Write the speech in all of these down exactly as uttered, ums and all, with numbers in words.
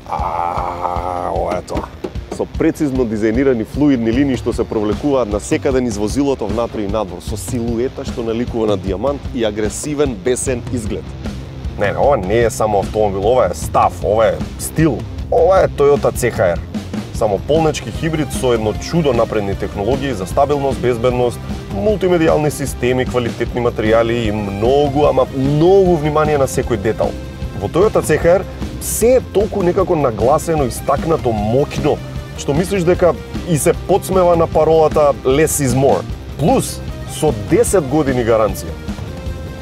А, ова е тоа. Со прецизно дизајнирани флуидни линии што се провлекуваат насекаде низ возилото внатре и надвор, со силуета што наликува на дијамант и агресивен, бесен изглед. Не, не, ова не е само автомобил, ова е став, ова е стил. Ова е Toyota C H R. Само полнечки хибрид со едно чудо напредни технологии за стабилност, безбедност, мултимедијални системи, квалитетни материјали и многу, ама многу внимание на секој детал. Во Toyota C H R се е толку некако нагласено, истакнато, моќно, што мислиш дека и се подсмева на паролата less is more. Плюс, со десет години гаранција.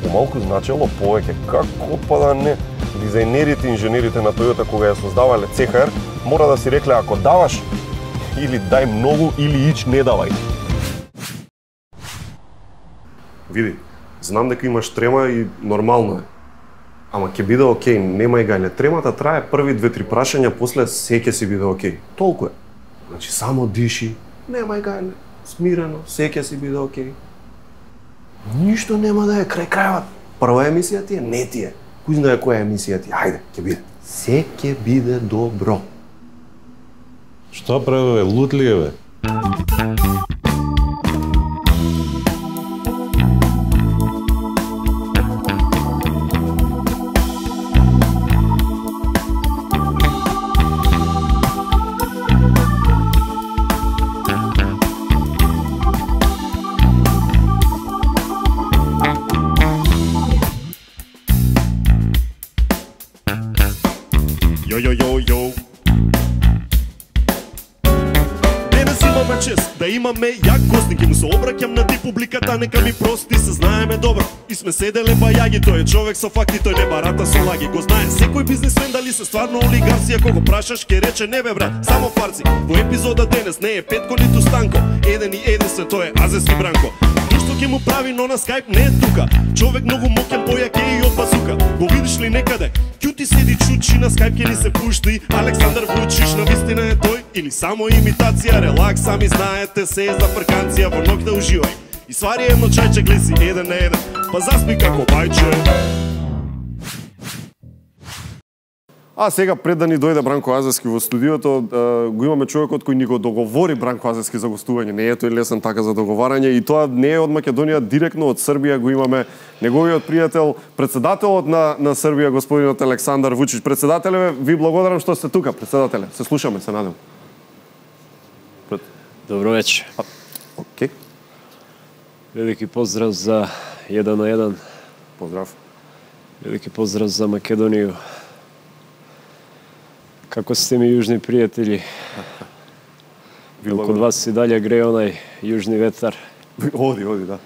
Помалку значело повеќе, како па да не. Дизајнерите и инженерите на Toyota кога ја создавале C H R, мора да си рекле ако даваш, или дај многу, или ич не давај. Види, знам дека имаш трема и нормално е. Ама ќе биде окей, немај гајле. Тремата трае први две-три прашања, после се ќе си биде окей. Толку е. Значи, само диши, немај гајле, смирено, се ќе си биде окей. Ништо нема да е крај крајот. Прва емисија ти е, не ти е. Кој знае која емисија ти е? Ајде, ќе биде. Се ќе биде добро. Што прави, бе? Лут ли е, бе? Йо, йо, йо, йо. Денес имаме чест да имаме јак гостин, ке му се обраќам на ти публиката, нека ми прости, се знаеме добро. И сме седеле бајаги, тој е човек со факти, тој не барата со лаги. Го знае секој бизнесмен дали се стварно олигарси, ако го прашаш ке рече не бе брат, само фарци. Во епизода денес не е Петко ниту Станко, еден и единствен тој е Азески Бранко. Што ќе му прави, но на скайп не е тука. Човек многу моќен, појаке и од базука. Го видиш ли некаде? Кјути седи чучи, на скайп ќе ни се пушти. Александар Вучиш на вистина е тој или само имитација? Релакс, сами знаете, се е за фрканција, во ноќ да уживај. И свари едно чајче, глеси еден на еден, па заспи како бајче. А сега пред да ни дојде Бранко Азески во студиото, го имаме човекот кој ни го договори Бранко Азески за гостување. Не е тој лесен така за договарање и тоа не е од Македонија, директно од Србија го имаме неговиот пријател, председателот на на Србија, господинот Александар Вучич. Председателе, ви благодарам што сте тука, председателе. Се слушаме, се надевам. Пред... Добро вечер. Окей. Велики поздрав за еден на еден. Поздрав. Велики поздрав за Македонија. Како сте ми јужни пријатели? Код вас и далje греje онај јужни ветар. Оди, оди, да.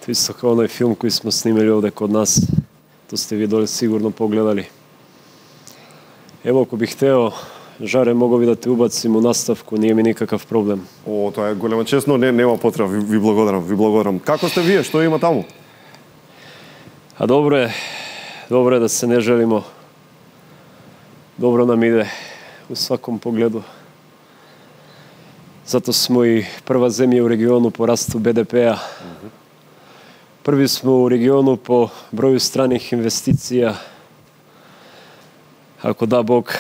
Тоа исто како онај филм кој смо снимали овде код нас. То сте ви доле сигурно погледали. Ево, ако бих хтео, Жаре, мого би да те убацим у наставку, nije ми никакав проблем. О, тоа е голема чест, но не, нема потреба, ви, ви благодарам, ви благодарам. Како сте вие, што има таму? А добро е, добро е да се не желимо. Добро нам иде у сваком погледу. Зато смо и прва земја у региону по расту Б Д П-а. Први смо у региону по броју страних инвестиција. Ако да Бог,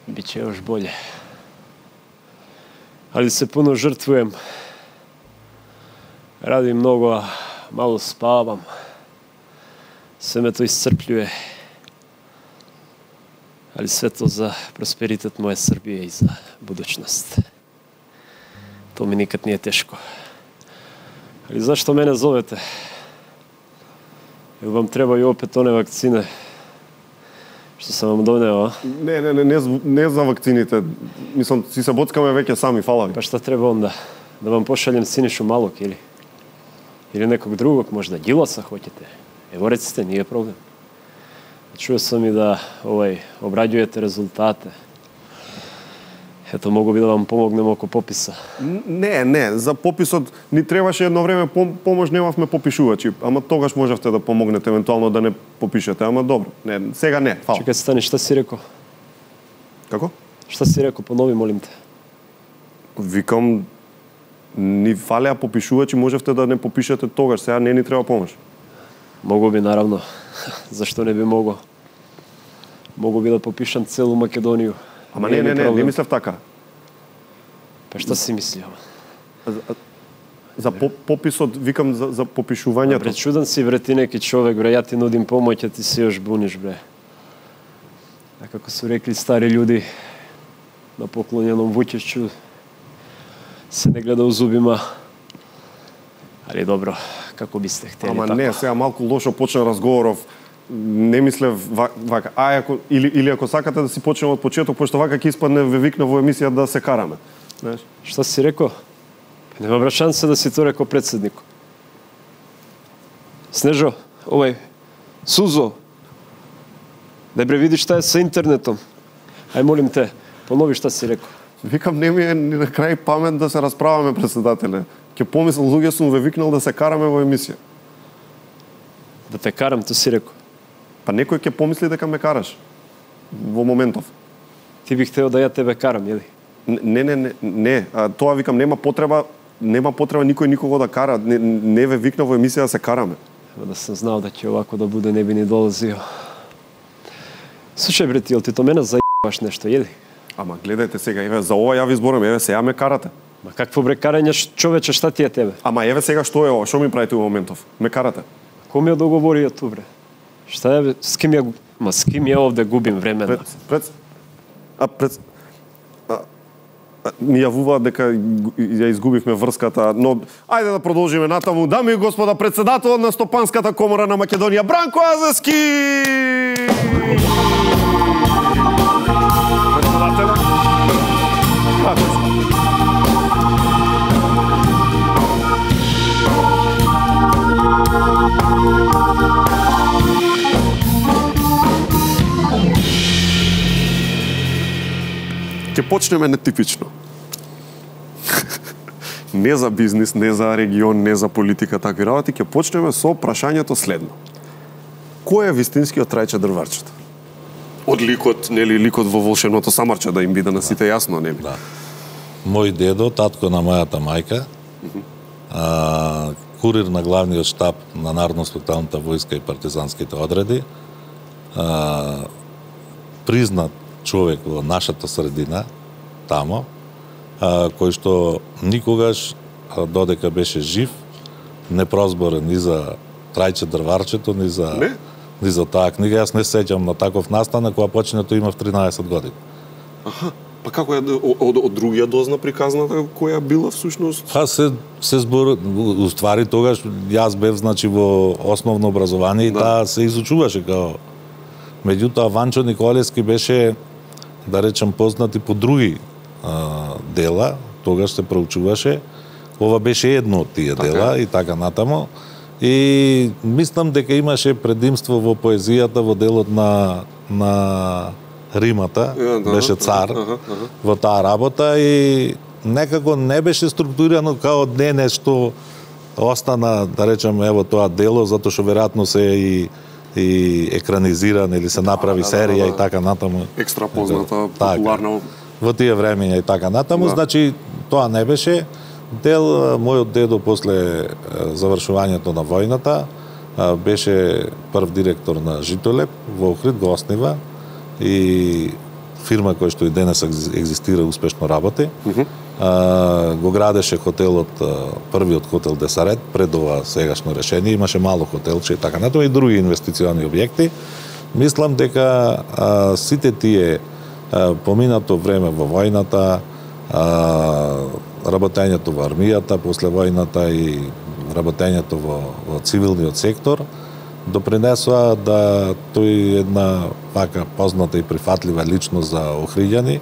биće još bolje. Ali se puno žrtvujem. Radim mnogo, a malo spavam. Sve me to iscrpljuje. Ali sve to za prosperitet moje Srbije i za budućnost. To mi nikad nije teško. Ali zašto mene zovete? Jel vam trebaju opet one vakcine што sam vam doneo, a? Не, не, не, не, не за вакцините. Мислам, си се боцкаме веќе сами, фала ви. Pa šta treba onda? Da vam pošaljem Sinišu Malog ili? Ili nekog drugog možda? Đilasa hoćete? Evo recite, nije problem. Čuo sam i da ovaj, obrađujete rezultate. Ето, могу би да вам помогнем око пописа. Не, не, за пописот ни требаше едно време помош, немавме попишувачи, ама тогаш можевте да помогнете евентуално да не попишете, ама добро. Не, сега не, фала. Чекај, стани, шта си реко? Како? Шта си реко, понови, молим те. Викам, ни фалеа попишувачи, можевте да не попишете тогаш, сега не ни треба помош. Могу би, наравно. Зашто не би мого? Могу би да попишам целу Македонија. Ама не, не, не, не мислев така. Па што си мисли, ама? За, за по, пописот, викам за, за попишувањето. Бре, чуден си, бре, ти неки човек, бре, ја ти нудим помоќ, а ти се još буниш, бре. А како су рекли стари људи, на поклоненом Вуќешću се не гледа у зубима. Али добро, како бисте хтели. Ама тако. не, сега малку лошо почна разговоров. Не мислев вака. А ако или или ако сакате да си почнеме од почеток, пошто вака ќе испадне ве викна во емисија да се караме. Знаеш? Што си рекол? Нема бра шанса да си то рекол председник. Снежо, овај, Сузо, дај бре види шта е со интернетом. Ај молим те, понови шта си рекол. Викам, не ми е ни на крај памет да се расправаме, председателе. Ке помислам, луѓе сум ве викнал да се караме во емисија. Да те карам, то си рекол. Па некој ќе помисли дека ме караш во моментов. Ти бих тео да ја тебе карам, једи? Не, не, не, не. А, тоа викам, нема потреба, нема потреба никој никого да кара. Не, не ве викна во емисија да се караме. Ево да сум знал да ќе овако да буде, не би ни долазио. Слушај, бре, ти, јел ти то мене зајбаш нешто, једи? Ама гледајте сега, еве, за ова ја ви зборам, еве, сега ме карате. Ма какво бре карање, човече, шта ти е тебе? Ама еве сега што е ова, што ми правите во моментов? Ме карате. Кој ми ја договори ја ту, бре? Шта е, бе? С ким ја, ма с ким ја овде губим време? Пред, пред, а пред, а, а, ми јавуваат дека ја изгубивме врската, но ајде да продолжиме натаму. Дами и господа, председателот на Стопанската комора на Македонија, Бранко Азески! Председателя? Како си? Ќе почнеме нетипично. Не за бизнис, не за регион, не за политика, такви работи, ќе почнеме со прашањето следно. Кој е вистинскиот Трајче Дрварчето? Од ликот, нели, ликот во волшебното самарче, да им биде на сите јасно, нели? Да. Мој дедо, татко на мојата мајка, а, курир на главниот штаб на Народно-спекталната војска и партизанските одреди, а, признат човек во нашата средина, тамо, а, кој што никогаш, а, додека беше жив, не прозборен ни за Трајче Дрварчето, ни за, Не? ни за таа книга. Јас не сеќам на таков настан, кога почнето имав тринаесет години. Аха, па како е од, од другија дозна приказната, која била всушност? Па се се збор, уствари тогаш јас бев значи во основно образование и Да. таа се изучуваше као. Меѓутоа Ванчо Николевски беше, да речем, познат и по други а, дела, тогаш се проучуваше. Ова беше едно од тие Така. дела и така натамо. И мислам дека имаше предимство во поезијата во делот на на римата, Е, да, беше цар аха, аха. во таа работа и некако не беше структурирано као денес што остана, да речем, ево тоа дело, затоа што веројатно се и и екранизиран или се направи да, да, серија да, да. и така натаму. Екстра позната, Така. популарна. Во тие времења и така натаму, Да. значи тоа не беше дел. Мојот дедо после е, завршувањето на војната е, беше прв директор на Житолеп во Охрид, го оснива и фирма која што и денес екзи- екзистира, успешно работи. Мгм. А, го градеше хотелот, а, првиот хотел Десарет, пред ова сегашно решение, имаше мало хотелче и така натаму и други инвестициони објекти. Мислам дека а, сите тие а, поминато време во војната, а, работењето во армијата после војната и работењето во, во цивилниот сектор допринесоа да тој една вака позната и прифатлива личност за охриѓани,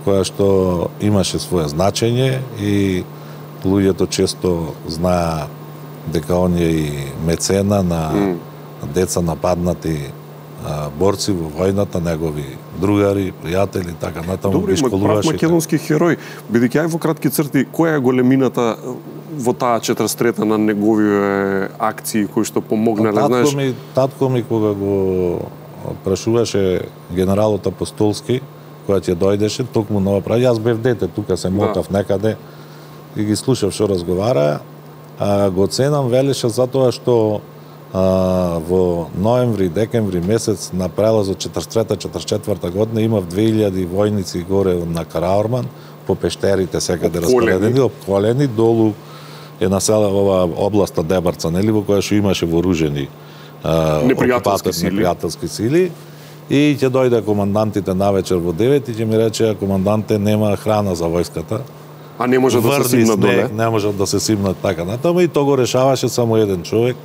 која што имаше свое значење и луѓето често знаа дека он е и мецена на Mm. деца нападнати а, борци во војната, негови другари, пријатели, така натаму Добро, ги има прав школуваше. македонски херој. Бидејќи ај во кратки црти, која е големината во таа четиридесет трета на неговиве акции кои што помогнале, Татко знаеш? ми, татко ми кога го прашуваше генералот Апостолски, која ќе дојдеше, токму на ова прави, јас бев дете, тука се мотав некаде и ги слушав што разговара, а го ценам, велеше затоа што а, во ноември, декември месец на прелазот четридесет и трета четридесет и четврта година имав две илјади војници горе на Караорман, по пештерите секаде распоредени, опколени, долу е насела ова областа Дебарца, нели, во која што имаше вооружени непријателски сили. непријателски сили. И ќе дојде командантите навечер во девет и ќе ми рече, команданте, нема храна за војската. А не може да се симнат доле? Не може да се симнат така натаму и то го решаваше само еден човек,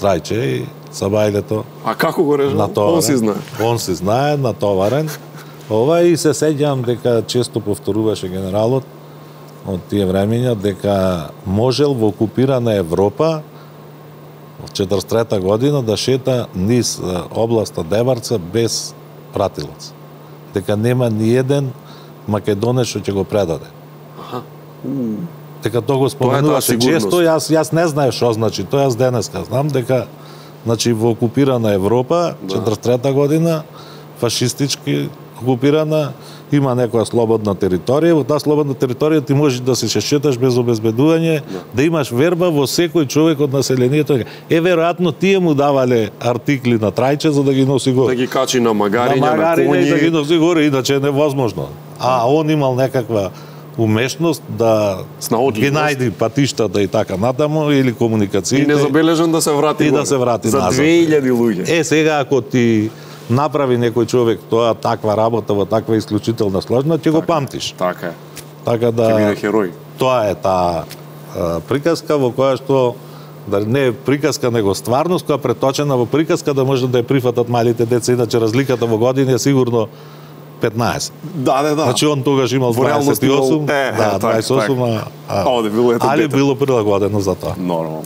Трајче и Сабајлето. А како го решава? Натоварен. Он си знае. Он си знае, натоварен. Ова и се сеќавам дека често повторуваше генералот од тие времења дека можел во окупирана Европа од четридесет и трета година да шета низ областа Дебарца без пратилец. Дека нема ни еден македонец што ќе го предаде. Аха. Дека тоа го споменуваше често, јас јас не знаев што значи тоа, јас денеска знам дека значи во окупирана Европа четридесет и трета година фашистички окупирана, има некоја слободна територија, во таа слободна територија ти можеш да се шеташ без обезбедување, да, да имаш верба во секој човек од населението. Е, веројатно тие му давале артикли на Трајче за да ги носи горе. Да ги качи на магариња, на, на коњи. Да ги носи горе, иначе е невозможно. А он имал некаква умешност да ги најди патиштата и така натаму, или комуникациите. И незабележен да се врати и горе. Да се врати за назад. две илјади луѓе. Е, сега ако ти направи некој човек тоа таква работа во таква исклучителна сложна, ќе го памтиш. Така е. Така да ќе биде херој. Тоа е таа приказка во која што да не е приказка него стварност, која преточена во приказка да може да ја прифатат малите деца, иначе разликата во години е сигурно петнаесет. Да, да, да. Значи он тогаш имал дваесет и осум, е, да, дваесет и осум, а, а, Оде било ето али дете. било прилагодено за тоа. Нормално.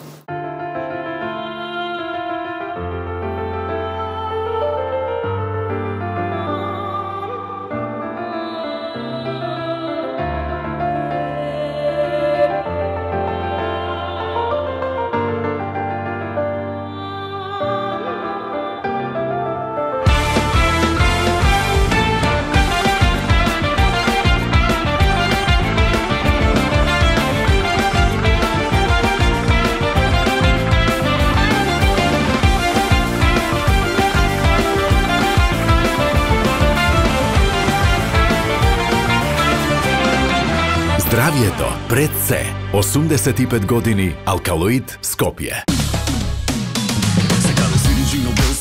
Здравието пред се. осумдесет и пет години Алкалоид Скопје.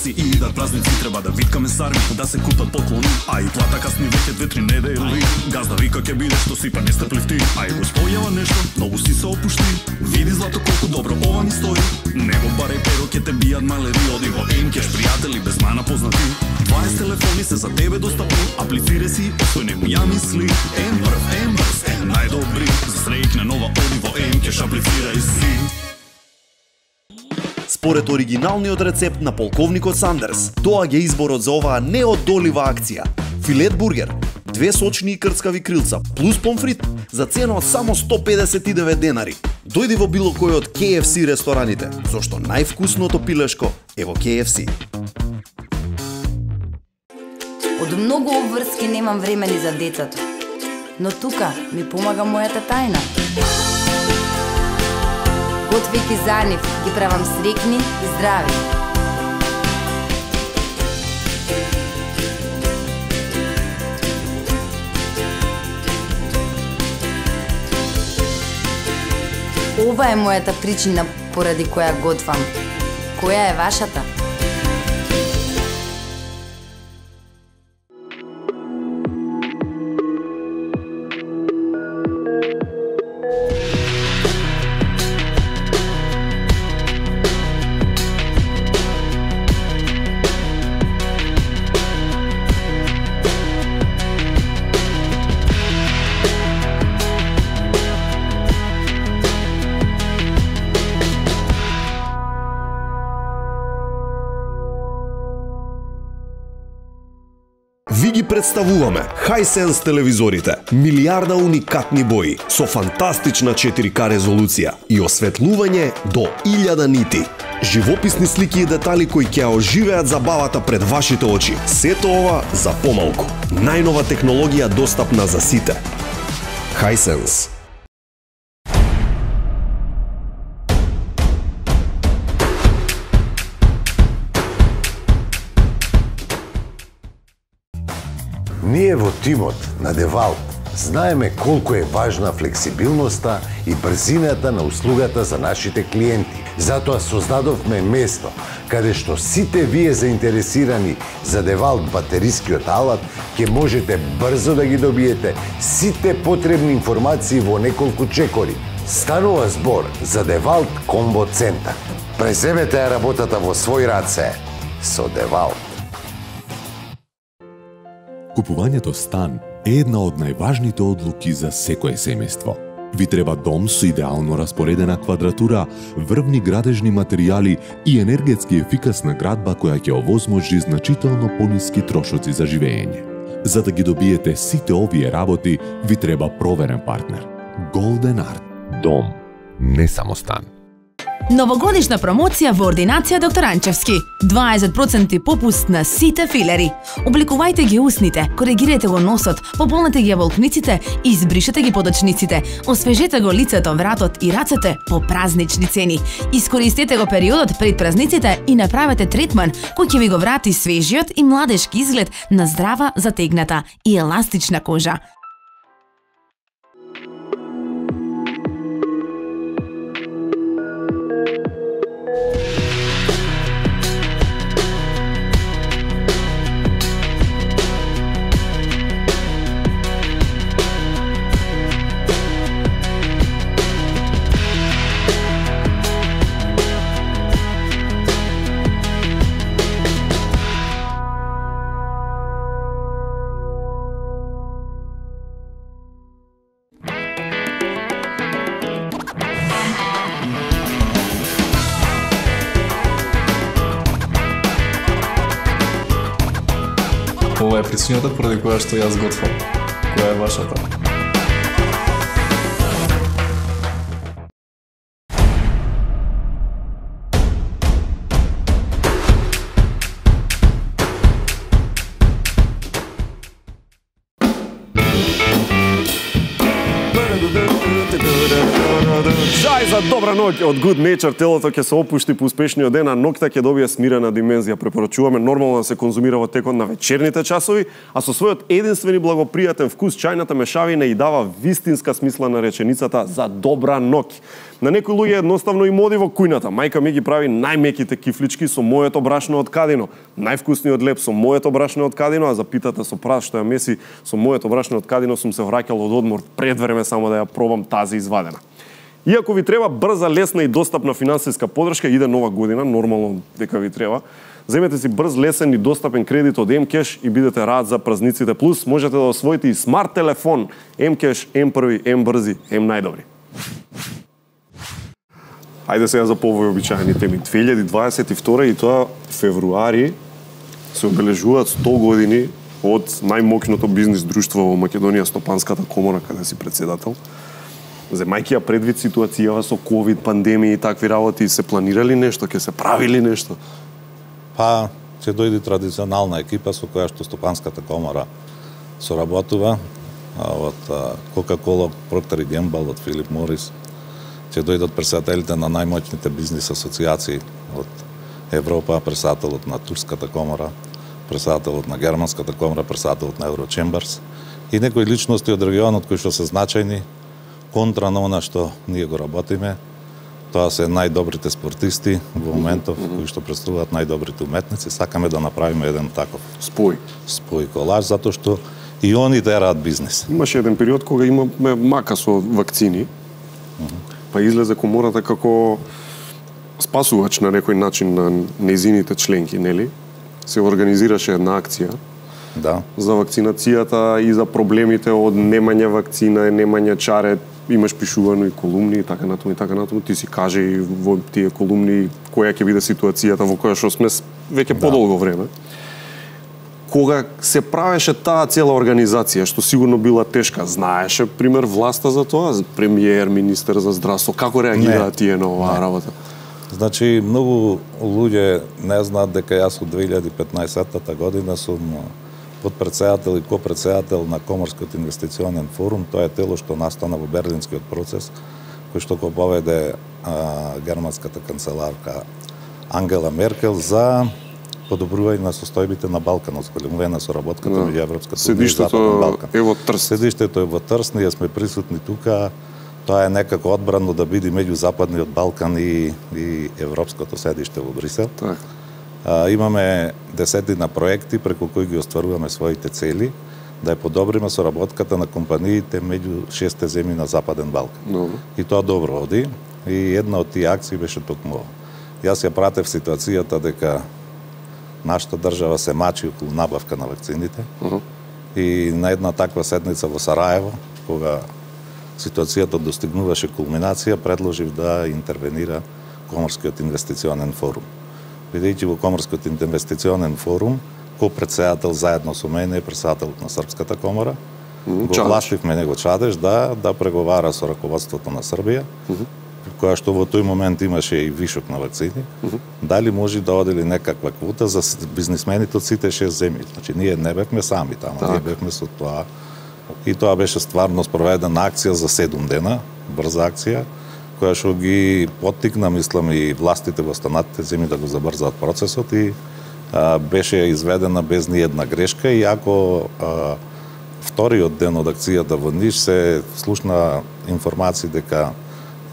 И идат празници, треба да виткаме сарми, да се купат поклони, а и плата касни веќе две-три недели. Газда вика ке биде што сипа не стрпливти, а и го спојава нешто, многу си се опушти. Види злато колку добро ова ни стои. Него баре перо ке те бијат малери, оди во емкеш, пријатели без мана познати. дваесет телефони се за тебе достапни, аплицире си, остој нему ја мисли. Ембрв, ембрз, најдобри, за среќна нова оди во емкеш, аплицирај си. Според оригиналниот рецепт на полковникот Сандерс, доаѓа изборот за оваа неодолива акција. Филет бургер, две сочни и крцкави крилца, плюс помфрит, за цена од само сто педесет и девет денари. Дојди во било кој од К Ф С рестораните, зашто највкусното пилешко е во К Ф С. Од многу обврски немам време ни за децата, но тука ми помага мојата тајна. Готвејќи за нив, ги правам срекни и здрави. Ова е мојата причина поради која готвам. Која е вашата? Ви ги представуваме Hisense телевизорите, милиарда уникатни бои со фантастична четири К резолуција и осветлување до илјада нити. Живописни слики и детали кои ќе оживеат забавата пред вашите очи. Сето ова за помалку. Најнова технологија достапна за сите. Hisense. Ние во тимот на Девалт знаеме колку е важна флексибилноста и брзината на услугата за нашите клиенти. Затоа создадовме место каде што сите вие заинтересирани за Девалт батерискиот алат ќе можете брзо да ги добиете сите потребни информации во неколку чекори. Станува збор за Девалт Комбо Центар. Преземете ја работата во свој раце со Девалт. Купувањето стан е една од најважните одлуки за секое семејство. Ви треба дом со идеално распоредена квадратура, врвни градежни материјали и енергетски ефикасна градба која ќе овозможи значително пониски трошоци за живење. За да ги добиете сите овие работи, ви треба проверен партнер. Golden Art. Дом, не само стан. Новогодишна промоција во ординација доктор Анчевски. дваесет проценти попуст на сите филери. Обликувајте ги усните, коригирајте го носот, пополнете ги волкниците и избришете ги подочниците. Освежете го лицето, вратот и рацете по празнични цени. Искористете го периодот пред празниците и направете третман кој ќе ви го врати свежиот и младешки изглед на здрава, затегната и еластична кожа. Ова е причината поради која што јас готвам. Која е вашата? Жај за добра ноќ од Good Nature, телото ќе се опушти по успешниот ден, а ноќта ќе добие смирена димензија. Препорачуваме нормално да се конзумира во текот на вечерните часови, а со својот единствен и благопријатен вкус чајната мешавина и дава вистинска смисла на реченицата за добра ноќ. На некои луѓе едноставно им оди во кујната. Мајка ми ги прави најмеките кифлички со моето брашно од Кадино, највкусниот леп со моето брашно од Кадино, а за питата со прас што ја меси со моето брашно од Кадино сум се враќал од одмор пред време само да ја пробам тази извадена. Иако ви треба брза, лесна и достапна финансиска поддршка, иде нова година, нормално дека ви треба. Земете си брз, лесен и достапен кредит од М-Кеш и бидете рад за празниците. Плюс можете да освоите и смарт телефон. М-Кеш, М-први, М-брзи, М-најдобри. Ајде сега за повојобичаени теми. две илјади дваесет и втора и тоа февруари се обележуваат сто години од најмоќното бизнис друштво во Македонија, Стопанската комора, каде си председател. Земајќи ја предвид ситуацијава со ковид, пандемија и такви работи, се планирали нешто, ќе се правили нешто? Па, ќе дојде традиционална екипа со која што Стопанската комора соработува, од Coca-Cola, Procter and Gamble, од Филип Морис. Ќе дојдат председателите на најмоćните бизнис асоцијации од Европа, председателот на Турската комора, председателот на Германската комора, председателот на Eurochamberс и некои личности од регионот кои што се значајни контра на она што ние го работиме. Тоа се најдобрите спортисти во моментов, кои што представуваат најдобрите уметници. Сакаме да направиме еден таков спој. Спој колаж, затоа што и они тераат бизнис. Имаше еден период кога имаме мака со вакцини, па излезе комората како спасувач на некој начин на незините членки, нели? Се организираше една акција да. за вакцинацијата и за проблемите од немање вакцина, немање чарет, имаш пишувано и колумни и така натаму и така натаму. Ти си каже и во тие колумни која ќе биде ситуацијата во која што сме веќе да. подолго време. Кога се правеше таа цела организација, што сигурно била тешка, знаеше, пример, власта за тоа? Премиер, министер за здравство, како реагираат тие на оваа работа? Значи, многу луѓе не знаат дека јас од две илјади и петнаесетта година сум подпредседател и копредседател на Коморскиот инвестиционен форум. Тоа е тело што настана во Берлинскиот процес, кој што го поведе а, германската канцеларка Ангела Меркел за подобрување на состојбите на Балканот, големување на соработката Да. меѓу Европската унија и Седиштето Западен Балкан. е во Трст. Седиштето е во Трст, ние сме присутни тука. Тоа е некако одбрано да биде меѓу Западниот Балкан и, и Европското седиште во Брисел. Так. А, имаме десетина проекти преку кои ги остваруваме своите цели, да ја подобриме соработката на компаниите меѓу шесте земји на Западен Балкан. Добро. И тоа добро оди. И една од тие акции беше токму ова. Јас ја пратев ситуацијата дека нашата држава се мачи околу набавка на вакцините. Uh -huh. И на една таква седница во Сараево, кога ситуацијата достигнуваше кулминација, предложив да интервенира Коморскиот инвестиционен форум. Бидејќи во Коморскиот инвестиционен форум, ко-председател заедно со мене е председателот на Српската комора, Mm, го Чадеш. властивме него Чадеш да да преговара со раководството на Србија, mm -hmm. која што во тој момент имаше и вишок на вакцини, mm -hmm. дали може да одели некаква квота за бизнисмените од сите шест земји. Значи ние не бевме сами таму, Так. ние бевме со тоа. И тоа беше стварно спроведена акција за седум дена, брза акција, која што ги поттикна, мислам, и властите во останатите земји да го забрзаат процесот и а, беше изведена без ни една грешка, и ако а, вториот ден од акцијата во Ниш се слушна информации дека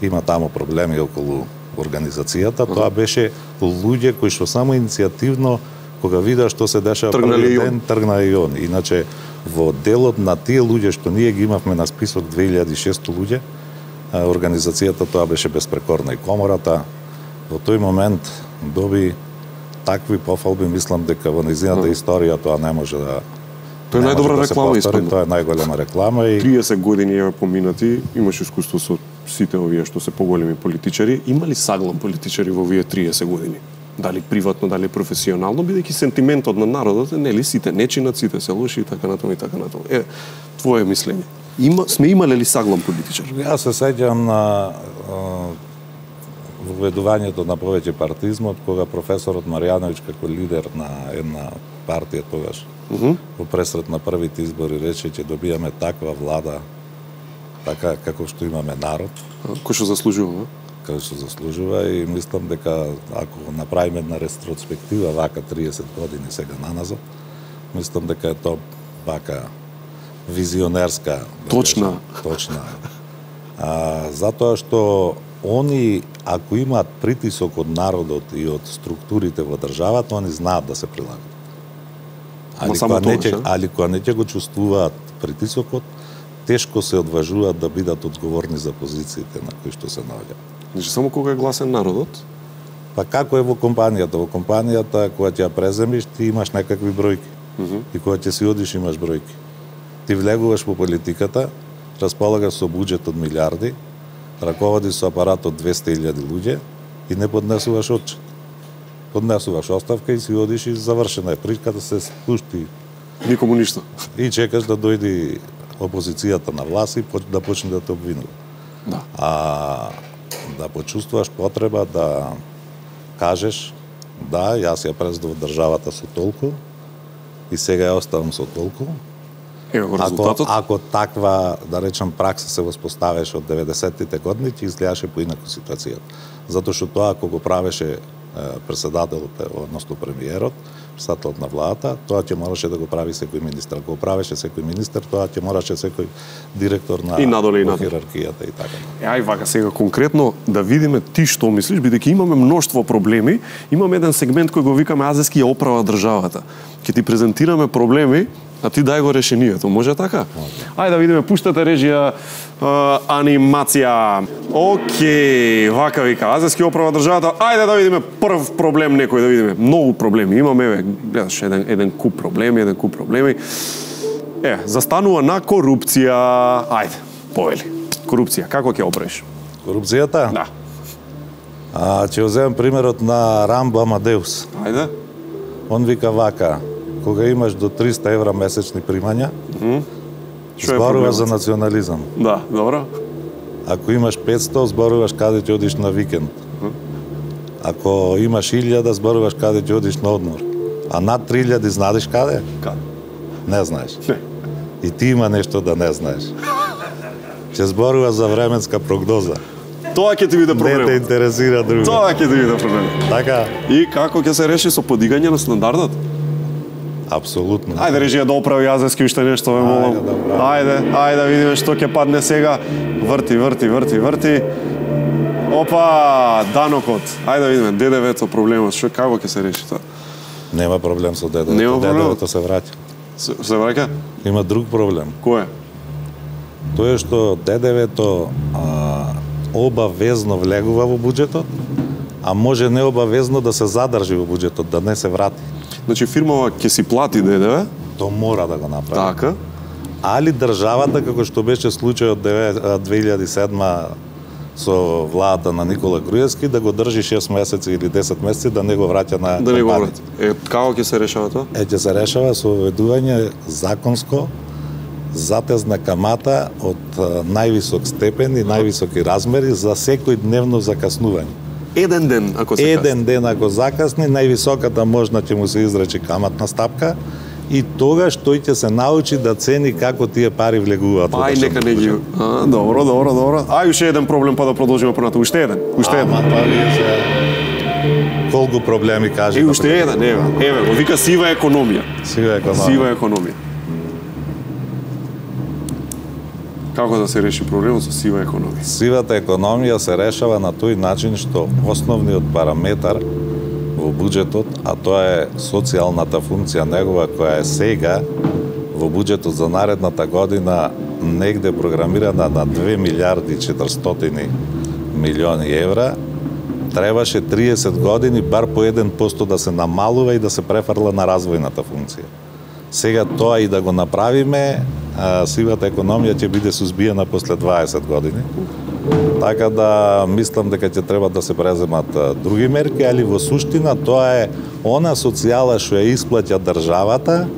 има таму проблеми околу организацијата, тоа беше луѓе кои што само иницијативно, кога видеа што се дешава Тргнале и првиот ден, тргна и он. Иначе во делот на тие луѓе што ние ги имавме на список две илјади и шестоста луѓе, а, организацијата тоа беше безпрекорна, и комората во тој момент доби такви пофалби, мислам дека во нејзината историја тоа не може да Тоа е не може најдобра да се реклама повтори, испадна. тоа е најголема реклама и триесет години е поминати, имаш искуство со сите овие што се поголеми политичари. Има ли саглам политичари во овие триесет години? Дали приватно, дали професионално, бидејќи сентиментот на народот е нели сите не чинат, сите се лоши и така натаму и така натаму. Е, твое мислење. Има сме имале ли саглам политичар? Јас се сеќам на воведувањето на повеќе партизмот, кога професорот Маријановиќ како лидер на една партија тогаш, Uh -huh. во пресрет на првите избори рече ќе добијаме таква влада, така како што имаме народ, Кој што заслужува? како што заслужува, и мислам дека ако направиме една ретроспектива вака триесет години сега наназад, мислам дека е тоа вака визионерска, да Точна. кажем, точна. А, затоа што они, ако имаат притисок од народот и од структурите во државата, они знаат да се прилагат. Али само кога, не тоа, ќе, али кога не ќе го чувствуваат притисокот, тешко се одважуваат да бидат одговорни за позициите на кои што се наоѓаат. Значи само кога е гласен народот? Па како е во компанијата? Во компанијата, кога ќе ја преземиш, ти имаш некакви бројки. Uh -huh. И кога ќе си одиш, имаш бројки. Ти влегуваш во политиката, располагаш со буџет од милиарди, раководиш со апарат од двесте илјади луѓе и не поднесуваш отчет. Поднесуваш оставка и си одиш и завршена е причката, се спушти. Никому ништо. И чекаш да дојде опозицијата на власт и да почне да те обвинува. Да. А да почувствуваш потреба да кажеш да, јас ја прездов државата со толку и сега ја оставам со толку. Ево го Ако, резултатот. ако таква, да речам, пракса се воспоставеше од деветдесеттите години, ќе изгледаше поинаку ситуацијата. Затоа што тоа, ако го правеше председателот, односно премиерот, председателот на владата, тоа ќе мораше да го прави секој министер. Ако го правеше секој министер, тоа ќе мораше секој директор на И надоле, и надоле. хиерархијата и така. Е, ај вака сега конкретно да видиме ти што мислиш, бидејќи имаме мноштво проблеми, имаме еден сегмент кој го викаме Азески ја оправа државата. Ќе ти презентираме проблеми, а ти дај го решението. Може така? Ајде да видиме, пуштате режија, а, анимација. Океј, вака вика, Азески оправа државата. Ајде да видиме прв проблем некој, да видиме. Многу проблеми имаме, еве, гледаш, еден, еден куп проблеми, еден куп проблеми. Е, застанува на корупција. Ајде, повели. Корупција, како ќе оправиш? Корупцијата? Да. А, ќе земам примерот на Рамбо Амадеус. Ајде. Он вика вака, кога имаш до триста евра месечни примања, Mm. зборуваш за национализам. Да, добро. Ако имаш петсто, зборуваш каде ќе одиш на викенд. Ако имаш илјада, зборуваш каде ќе одиш на одмор. А над три илјади знаеш каде? Каде? Не знаеш. Не. И ти има нешто да не знаеш. Ќе зборуваш за временска прогноза. Тоа ќе ти биде проблем. Не те интересира друго. Тоа ќе ти биде проблем. Така. И како ќе се реши со подигање на стандардот? Апсолутно. Ајде режија да оправи Јазевски уште нешто, ве молам. Ајде, ајде да видиме што ќе падне сега. Врти, врти, врти, врти. Опа, данокот. Ајде да видиме Д Д В-то проблемот, што како ќе се реши тоа? Нема проблем со Д Д В. Нема Д Д проблем. В-то се враќа. Се, се враќа? Има друг проблем. Кој е? Тоа е што Д Д В-то обавезно влегува во буџетот, а може необавезно да се задржи во буџетот, да не се врати. Значи фирмава ќе си плати Д Д В? То мора да го направи. Така. Али државата, како што беше случајот две илјади и седма со владата на Никола Груевски, да го држи шест месеци или десет месеци, да не го враќа на да не го компанијата. врати. Е, како ќе се решава тоа? Е, ќе се решава со введување законско затезна камата од највисок степен и највисоки размери за секој дневно закаснување. Еден ден, ако се Еден ден ако закасни, највисоката можна ќе му се изрече каматна стапка и тогаш тој ќе се научи да цени како тие пари влегуваат. Па ај нека не ги. А, добро, добро, добро. Ај уште еден проблем па да продолжиме понатаму. Уште еден, уште еден. Ама па вие се колку проблеми кажи. И уште еден, еве, еве, го вика сива економија. Сива економија. Сива економија. Како да се реши проблемот со сива економија? Сивата економија се решава на тој начин што основниот параметар во буџетот, а тоа е социјалната функција негова која е сега во буџетот за наредната година негде програмирана на две милијарди и четиристотини милиони евра, требаше триесет години бар по еден посто да се намалува и да се префрла на развојната функција. Сега тоа и да го направиме, сивата економија ќе биде сузбиена после дваесет години. Така да мислам дека ќе треба да се преземат други мерки, али во суштина тоа е она социјала што ја исплаќа државата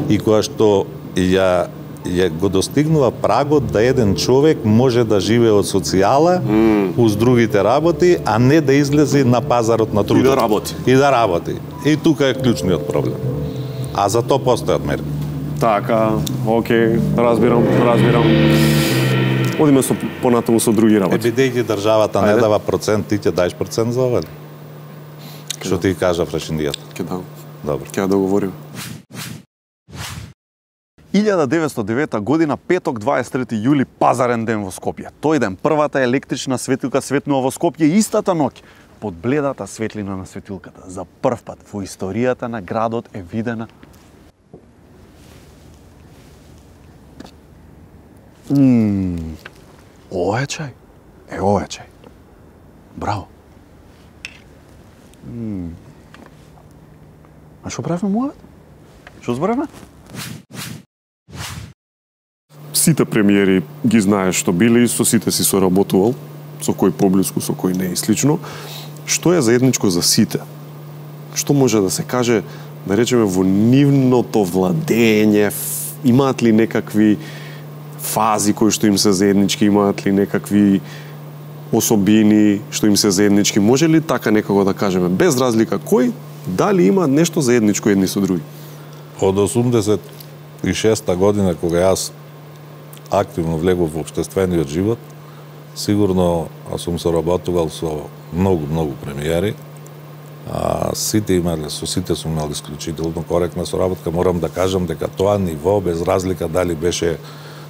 и која што ја ја го достигнува прагот да еден човек може да живее од социјала mm. уз другите работи, а не да излезе на пазарот на трудот. И да работи. И да работи. И тука е клучниот проблем. А за тоа постојат мерки. Така, окей, разбирам, разбирам. Одиме со понатаму со други работи. Е, бидејќи државата не дава процент, ти ќе даеш процент за ова? Што ти кажа Фрешиндијата? Ќе дам. Добро. Ќе договориме. илјада деветстотини и девета година, петок, дваесет и трети јули, пазарен ден во Скопје. Тој ден првата електрична светилка светнува во Скопје истата ноќ. Под бледата светлина на светилката, за прв пат во историјата на градот е видена Ммм, ова е чај. Е, ова е чај. Браво. Ммм. А што правиме муавет? Што зборевме? Сите премиери ги знаеш што биле и со сите си соработувал, со кој поблиску, со кој не и слично. Што е заедничко за сите? Што може да се каже, да речеме, во нивното владење, имаат ли некакви фази кои што им се заеднички, имаат ли некакви особини што им се заеднички? Може ли така некако да кажеме, без разлика кој, дали има нешто заедничко едни со други? Од осумдесет и шеста година, кога јас активно влегов во општествениот живот, сигурно сум соработувал со многу, многу премиери. А, сите имале, со сите сум имал исклучително коректна соработка. Морам да кажам дека тоа ниво, без разлика дали беше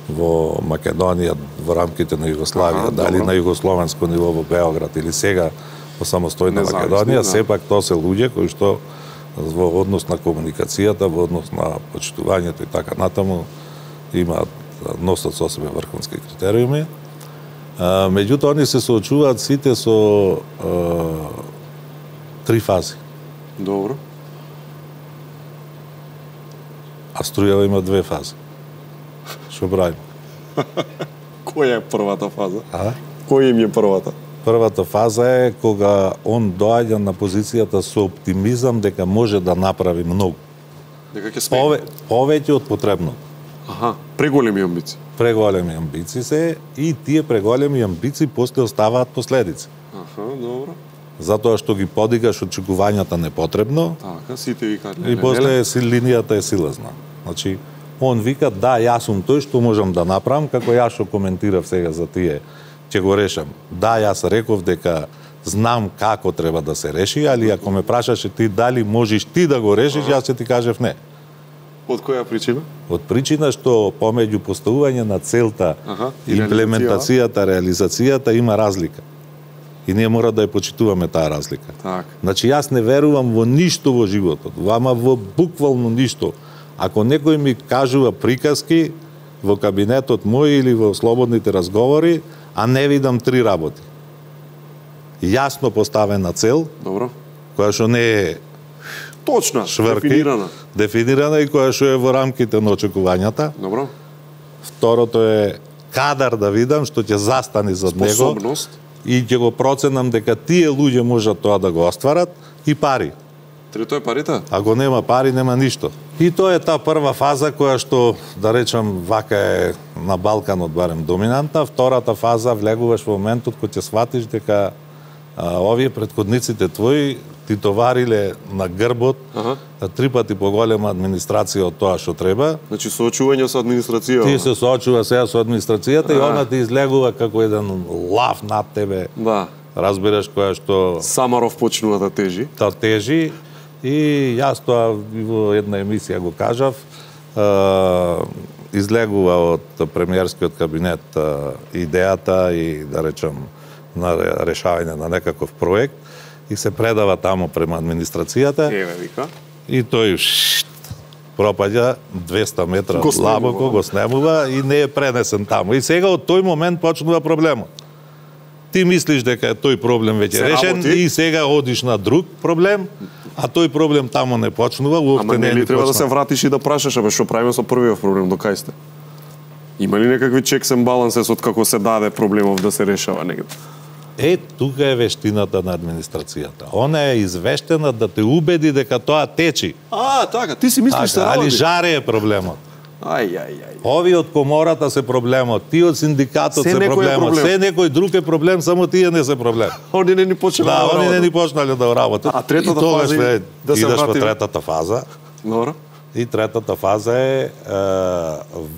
во Македонија, во рамките на Југославија, ага, дали добро. На југословенско ниво во Београд или сега во самостојна Македонија, да. Сепак тоа се луѓе кои што во однос на комуникацијата, во однос на почитувањето и така натаму имаат, носат со себе врховски критериуми. А, меѓутоа, они се соочуваат сите со а, три фази. Добро. А струјава има две фази. Што правим? Која е првата фаза? А? Која им е првата? Првата фаза е кога он доаѓа на позицијата со оптимизам дека може да направи многу. Дека ќе смее. Пове, повеќе од потребно. Аха, преголеми амбиции. Преголеми амбиции се и тие преголеми амбиции после оставаат последици. Аха, добро. Затоа што ги подигаш очекувањата непотребно. Така, сите викаат. И после си линијата е силазна. Значи, он вика, да, јас сум тој што можам да направам, како јас што коментирав сега за тие ќе го решам. Да, јас реков дека знам како треба да се реши, али ако ме прашаше ти дали можеш ти да го решиш, јас ќе ти кажев не. Од која причина? Од причина што помеѓу поставување на целта, Аха, имплементацијата, реализацијата има разлика. И ние мора да ја почитуваме таа разлика. Так. Значи јас не верувам во ништо во животот, вама во буквално ништо. Ако некој ми кажува приказки во кабинетот мој или во слободните разговори, а не видам три работи. Јасно поставена цел, добро, која што не е точна, шврки, дефинирана. Дефинирана и која што е во рамките на очекувањата. Добро. Второто е кадар да видам што ќе застани зад него. Способност. И ќе го проценам дека тие луѓе можат тоа да го остварат и пари. Трето е парите? Ако нема пари, нема ништо. И тоа е таа прва фаза која што, да речам, вака е на Балканот барем доминанта. Втората фаза влегуваш во моментот кој ќе сватиш дека а, овие предходниците твои ти товариле на грбот ага. три пати поголема администрација од тоа што треба. Значи соочување со администрацијата. Ти се соочува сега со администрацијата а. и она ти излегува како еден лав над тебе. Да. Разбираш, која што Самаров почнува да тежи. Да тежи и јас тоа во една емисија го кажав, е, излегува од премиерскиот кабинет е, идејата и да речам на решавање на некаков проект и се предава таму према администрацијата. Еве вика. И тој шт, пропаѓа двеста метра длабоко, го снемува и не е пренесен таму. И сега од тој момент почнува проблемот. Ти мислиш дека е тој проблем веќе решен работи. И сега одиш на друг проблем, а тој проблем таму не почнува, уопште не, не е ли треба почнува. Да се вратиш и да прашаш, абе што правиме со првиот проблем, до кај сте? Има ли некакви checks and balances од како се даде проблемов да се решава негде? Е, тука е вештината на администрацијата. Она е извештена да те убеди дека тоа течи. А, така, ти си мислиш се работи. Али жаре е проблемот. Ај, ај, ај. Ови од комората се проблемот, ти од синдикатот се, се проблемот, проблем. Се некој друг е проблем, само тие не се проблем. Они не ни почнале да, да они не ни почнале да работат. А третата фаза е, да се идеш вратим. во третата фаза. Добро. И третата фаза е, е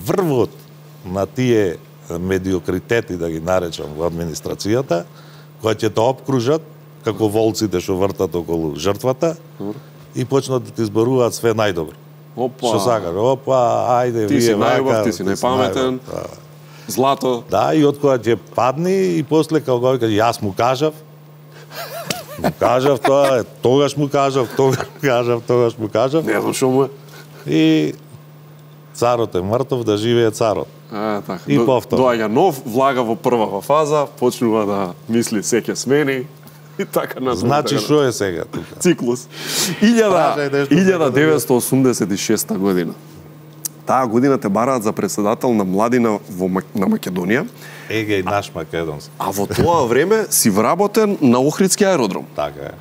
врвот на тие медиокритети, да ги наречам, во администрацијата, кои ќе те обкружат, како волците што вртат околу жртвата, Добро. И почнат да ти изборуваат све најдобро. Опа. Што сакаш? Опа, ајде, ти вие си вака. најубав, ти си најпаметен. Да. Злато. Да, и од кога ќе падни и после како го кажа, јас му кажав. Му кажав тоа, тогаш му кажав, тогаш му кажав, тогаш му кажав. Не знам што му е. И царот е мртов, да живее царот. А, така. И До, повтор. Доаѓа нов, влага во првава фаза, почнува да мисли се ќе смени. И така на Значи што е сега тука? Циклус. илјада деветстотини осумдесет и шеста година. Таа година те бараат за председател на младина во на Македонија. Еге и наш македонски. А во тоа време си вработен на Охридски аеродром. Така е.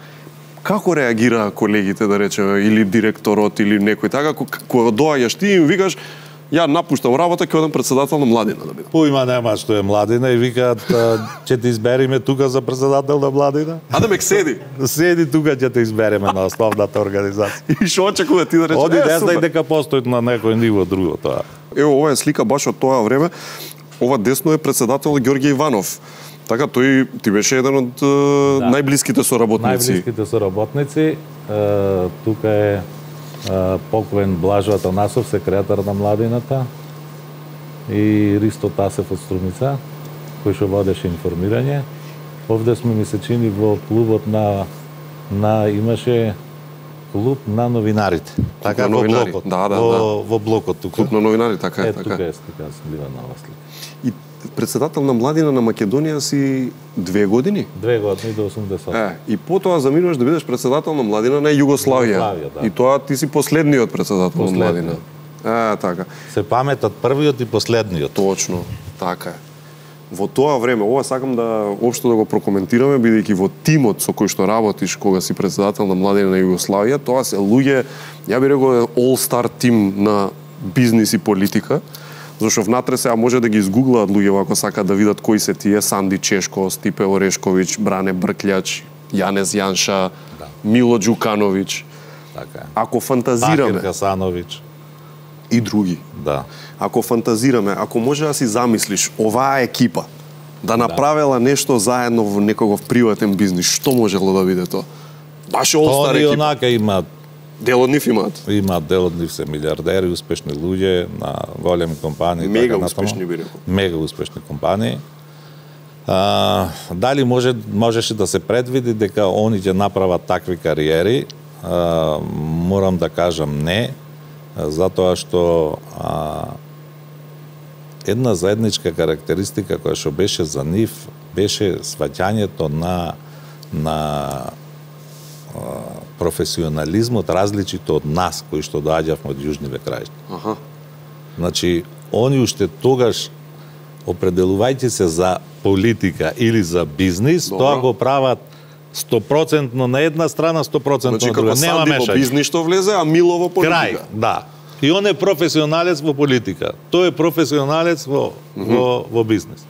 Како реагира колегите, да речеме, или директорот, или некој така, кога доаѓаш ти и им викаш, ја напуштам работа, ќе одам председател на младина да бидам. Поима нема што е младина и викаат, ќе те избериме тука за председател на младина. А да мек седи. Седи тука ќе те избереме на основната организација. И што очекува ти да речеш? Оди не знај дека постои на некој ниво друго тоа. Ево, ова е слика баш од тоа време. Ова десно е председател Ѓорѓе Иванов. Така, тој ти беше еден од да. најблиските соработници. Најблиските соработници. Е, тука е покоен Блажо Атанасов, секретар на младината, и Ристо Тасев од Струмица, кој што водеше информирање. Овде сме, ми се чини, во клубот на, на имаше клуб на новинарите. Така, на во новинари. блокот. Да, да, во, да. во блокот тука. Клуб на новинари, така е, е така. Тука е слика, слива нова слика. И председател на младина на Македонија си две години? Две години до осумдесет. Е, и потоа заминуваш да бидеш председател на младина на Југославија. Југославија, да. И тоа ти си последниот председател Последниот. на младина. Е, така. Се паметат првиот и последниот. Точно, така е. Во тоа време, ова сакам да општо да го прокоментираме, бидејќи во тимот со кој што работиш кога си председател на младина на Југославија, тоа се луѓе, ја би рекол, all-star тим на бизнис и политика. Зашто внатре сега може да ги изгуглаат луѓе ако сакаат да видат кои се тие: Санди Чешко, Стипе Орешковиќ, Бране Брклјач, Јанез Јанша, да. Мило Ѓукановиќ. Така. Ако фантазираме, Бакир Хасановиќ и други. Да. Ако фантазираме, ако може да си замислиш оваа екипа да направела нешто заедно во некогов приватен бизнис, што можело да биде тоа? Баш олстар екипа. Они онака имаат дел од нив имаат. Имаат дел од нив се милиардери, успешни луѓе на големи компании, мега така успешни би рекол. Мега успешни компании. А, дали може можеше да се предвиди дека они ќе направат такви кариери? А, морам да кажам не, затоа што а, една заедничка карактеристика која што беше за нив беше сваќањето на на а, професионализмот различито од нас кои што доаѓавме од јужниве краишта. Аха. Значи, они уште тогаш определувајќи се за политика или за бизнис, Добро. Тоа го прават сто проценти на една страна, сто проценти значи, на друга. Нема мешање. Во бизнис што влезе, а Мило во политика. Крај, да. И он е професионалец во политика. Тој е професионалец во, mm -hmm. во, во бизнис.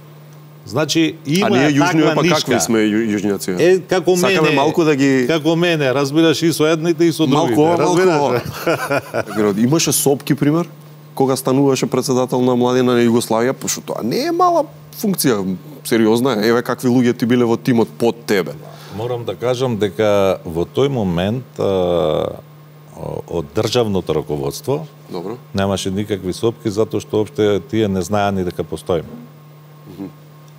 Значи, има таква нишка. А ние јужњови па какви сме јужњаци? Е, како мене, Сакаме малку да ги... Како мене, разбираш и со едните и со другите. Малку, разбираш? малку. Имаше сопки, пример, кога стануваше председател на младина на Југославија, пошто тоа не е мала функција, сериозна е. Еве какви луѓе ти биле во тимот под тебе. Морам да кажам дека во тој момент а, од државното раководство Добро. немаше никакви сопки затоа што опште тие не знаеа ни дека постоиме. Mm -hmm.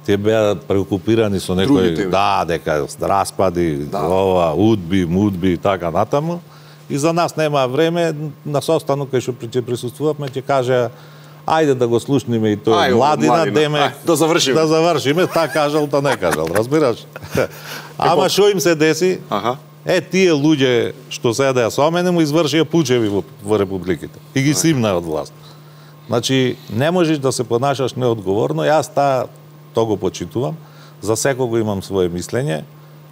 Тие беа преокупирани со некои да, дека распади, да. ова, удби, мудби и така натаму. И за нас нема време, на состанок кај што ќе присуствувавме, ќе каже ајде да го слушниме и тој Ај, младина, младина. деме Ај, да завршиме. Да завршиме, та кажал, та не кажал, разбираш? Ама што им се деси? Аха. Е, тие луѓе што седеа со мене му извршија пучеви во, во републиките и ги симнаа од власт. Значи, не можеш да се понашаш неодговорно, јас таа тоа го почитувам, за секого имам свое мислење,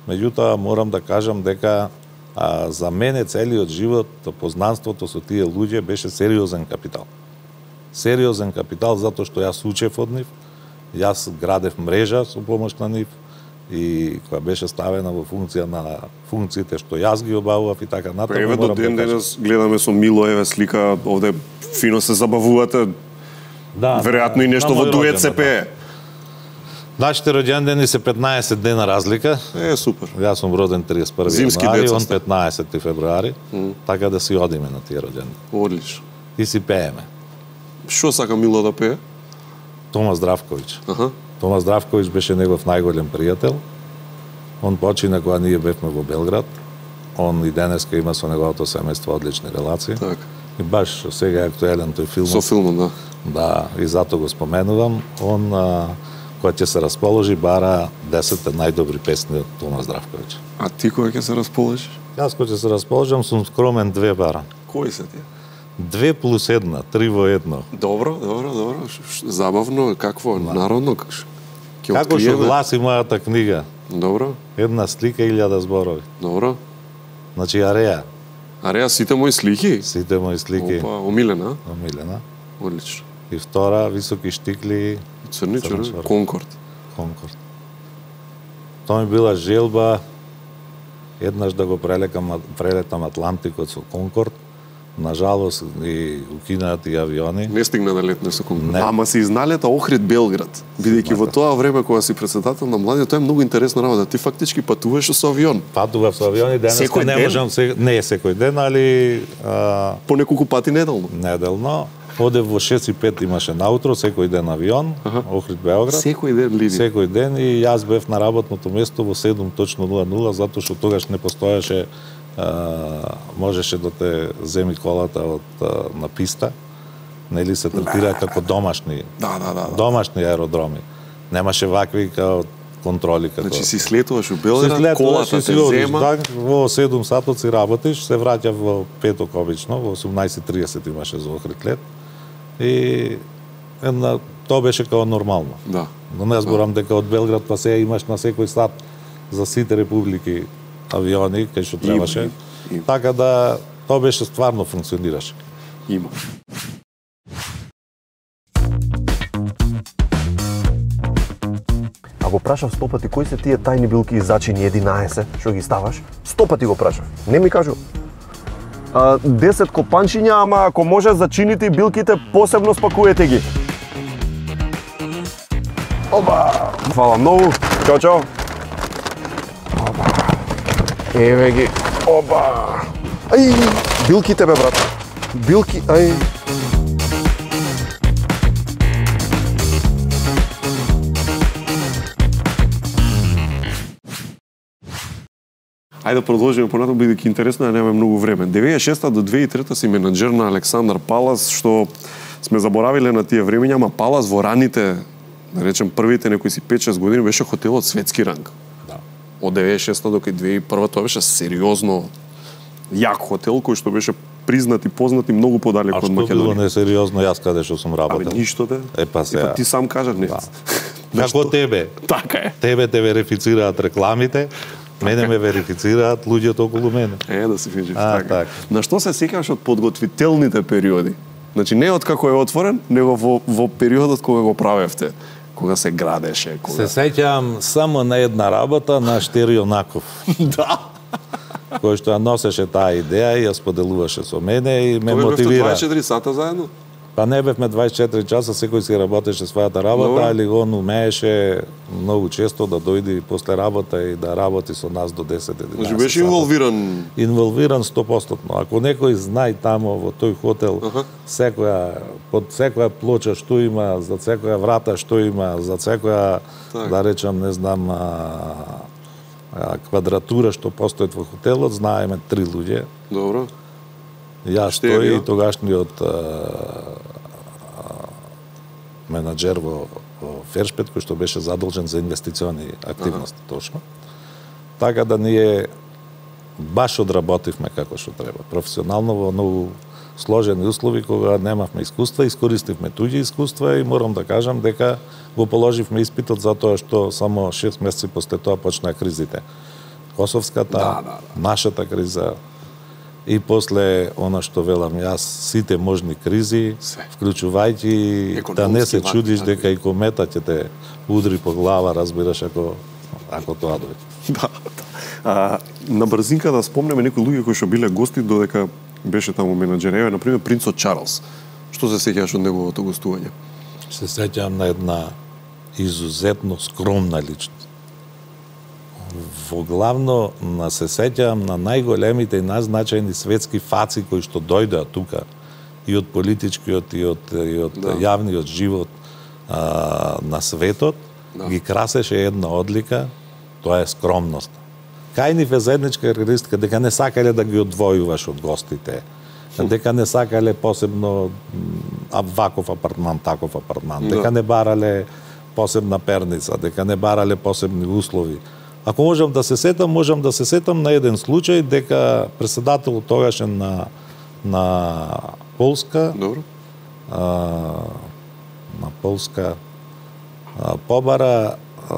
меѓутоа морам да кажам дека а, за мене целиот живот, познанството со тие луѓе беше сериозен капитал. Сериозен капитал затоа што јас учев од нив, јас градев мрежа со помош на нив, и која беше ставена во функција на функциите што јас ги обавував и така натаму. Еве до ден денес гледаме со Мило, еве слика, овде фино се забавувате. Да, веројатно и нешто во дует се пее. Нашите роѓендени се петнаесет дена разлика. Е, супер. Јас сум роден триесет и први Зимски јануари, деца он сте. петнаесети февруари, Mm. така да си одиме на тие роѓендени. Одлично. И си пееме. Што сака Мило да пее? Тома Здравковиќ. Аха. Тома Здравковиќ беше негов најголем пријател. Он почина кога ние бевме во Белград. Он и денеска има со неговото семејство одлични релации. Так. И баш сега е актуелен тој филм. Со филмот, да. Да, и затоа го споменувам. Он, а, кога ќе се расположи, бара десет најдобри песни од Тома Здравковиќ. А ти кога ќе се расположиш? Јас кога ќе се расположам, сум скромен две бара. Кои се тие? Две плюс една, три во едно. Добро, добро, добро. Ш, ш, забавно, какво, да. Народно, ќе Како што гласи мојата книга. Добро. Една слика, илјада зборови. Добро. Значи, Ареја. Ареја, сите мои слики? Сите мои слики. Опа, омилена? Омилена. Одлично. И втора, високи штикли. Црни чорни, Конкорд. Конкорд. Тоа ми била желба еднаш да го прелетам, прелетам Атлантикот со Конкорд. Нажалост и укинаат и авиони. Не стигна да летне со Конкорд. Ама се изналета Охрид Белград. Бидејќи во тоа време кога си председател на младите, тоа е многу интересна работа. Ти фактички патуваш со авион. Патував со авиони, денеска не можам се, не е секој ден, али а... по неколку пати неделно. Неделно. Оде во шест и пет имаше наутро, секој ден авион, ага. Охрид Белград. Секој ден линија. Секој ден и јас бев на работното место во седум точно нула нула, затоа што тогаш не постоеше, а, можеше да те земи колата од а, на писта, нели се третира како домашни. Да, да, да, да. Домашни аеродроми. Немаше вакви као контроли како. Значи си слетуваш во Белград, колата те зема. Да, во седум сатот си работиш, се враќав во петок обично, во осумнаесет и тридесет имаше за Охрид лет. И една, тоа беше као нормално. Да. Но не зборам дека од Белград па сега имаш на секој сат за сите републики авиони, кај што требаше. Има, има. Така да тоа беше стварно функционираше. Има. А го прашав сто пати кои се тие тајни билки и зачини единаесет, што ги ставаш? Сто пати го прашав. Не ми кажу. А, десет копанчиња, ама ако може зачините и билките посебно спакуете ги. Оба! Фала многу. Чао, чао. Оба. Еве ги. Оба. Ај, билки тебе, брат. Билки, ај. Ајде да продолжиме понатаму, бидејќи интересно е, немаме многу време. деветдесет и шеста до две илјади и трета си менаџер на Александар Палас, што сме заборавиле на тие времења, ама Палас во раните, да речем првите некои си пет-шест години беше хотел од светски ранг. Да. Од деветдесет и шеста до две илјади и прва тоа беше сериозно јак хотел кој што беше признат и познат и многу подалеку од Македонија. А што било несериозно јас каде што сум работел? Абе ништо де. Е па сега. Ти сам кажа не. Да. Како тебе? Така е. Тебе те верифицираат рекламите. Мене ме верифицираат луѓето околу мене. Е, да се фиџиш, а, така. так. На што се сеќаваш од подготвителните периоди? Значи, не од како е отворен, него во, во периодот кога го правевте, кога се градеше. Кога... Се сеќавам само на една работа на Штери Јонаков. Да. Кој што ја носеше таа идеја и ја споделуваше со мене и ме Тоа мотивира. дваесет и четири сата заедно? Па не бевме дваесет и четири часа, секој си работеше својата работа, али он умееше многу често да дојде после работа и да работи со нас до десет единаесет. Значи беше инволвиран? Инволвиран сто проценти. Ако некој знае тамо во тој хотел, uh-huh. секоја, под секоја плоча што има, за секоја врата што има, за секоја, так. да речам, не знам, а, а, квадратура што постојат во хотелот, знаеме три луѓе. Добро. Јас тој и тогашниот менаџер во, во Фершпет, кој што беше задолжен за инвестициони активности, ага. точно. Така да ние баш одработивме како што треба. Професионално во многу сложени услови, кога немавме искуства, искористивме туѓи искуства и морам да кажам дека го положивме испитот затоа што само шест месеци после тоа почнаа кризите. Косовската, да, да, да. нашата криза, и после она што велам јас, сите можни кризи, вклучувајќи да не се чудиш дека и комета ќе те удри по глава, разбираш, ако ако тоа дојде. Да. А, на брзинка да спомнеме некои луѓе кои што биле гости додека беше таму менаџер. Еве, на пример, принцот Чарлс. Што се сеќаваш од неговото гостување? Се сеќавам на една изузетно скромна личност. Во главно на се сеќавам на најголемите и најзначајни светски фаци кои што дојдоа тука и од политичкиот и од, и од да. јавниот живот а, на светот, да. ги красеше една одлика, тоа е скромност. Кај нив е заедничка карактеристика дека не сакале да ги одвојуваш од гостите, дека не сакале посебно а, ваков апартман, таков апартман, да. дека не барале посебна перница, дека не барале посебни услови. Ако можам да се сетам, можам да се сетам на еден случај дека председател тогашен на на Полска, добро, а, на Полска а, побара а,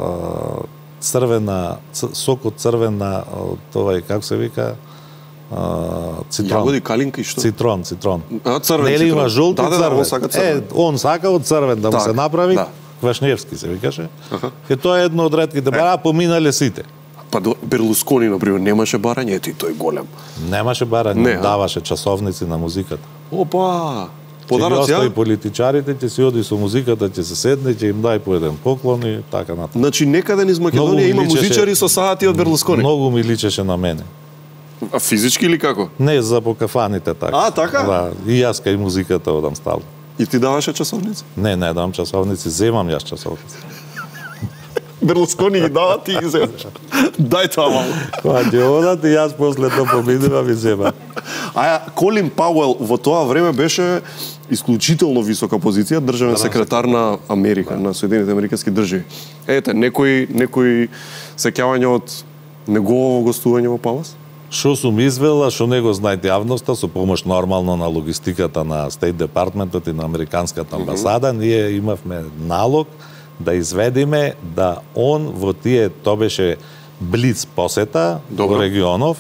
црвена сок од црвена од овај како се вика а, цитрон. Јагоди, калинка и што? Цитрон, цитрон. А, црвен Нели цитрон. има жолт да, и да, црвен. Да, он сака црвен. Е, он сака од црвен да му так, се направи. Да. Квашневски се викаше. Аха. Е тоа е едно од ретките бара, поминале сите. Па Берлускони, например, немаше барање, ето и тој голем. Немаше барање, не, даваше часовници на музиката. Опа! Подароци, ја? И политичарите ќе си оди со музиката, ќе се седне, ќе им дај по еден поклон и така натаму. Значи некаде низ Македонија има личеше, музичари со саати од Берлускони. Многу ми личеше на мене. А физички или како? Не, за по кафаните така. А, така? Да, и јас кај музиката одам стално. И ти даваше часовници? Не, не дам часовници, земам јас часовници. Берлускони ги дава, ти ги земаш. Дај тоа малку. Кога ќе одат и јас после тоа победувам и земам. А Колин Пауел во тоа време беше исклучително висока позиција, државен секретар на Америка, на Соединените американски држави. Ете, некои некои сеќавања од негово гостување во Палас? Што сум извела, што не го знаете јавноста, со помош нормално на логистиката на Стейт Департментот и на Американската амбасада, mm -hmm. ние имавме налог да изведиме да он во тие, тоа беше блиц посета Добро. во регионов,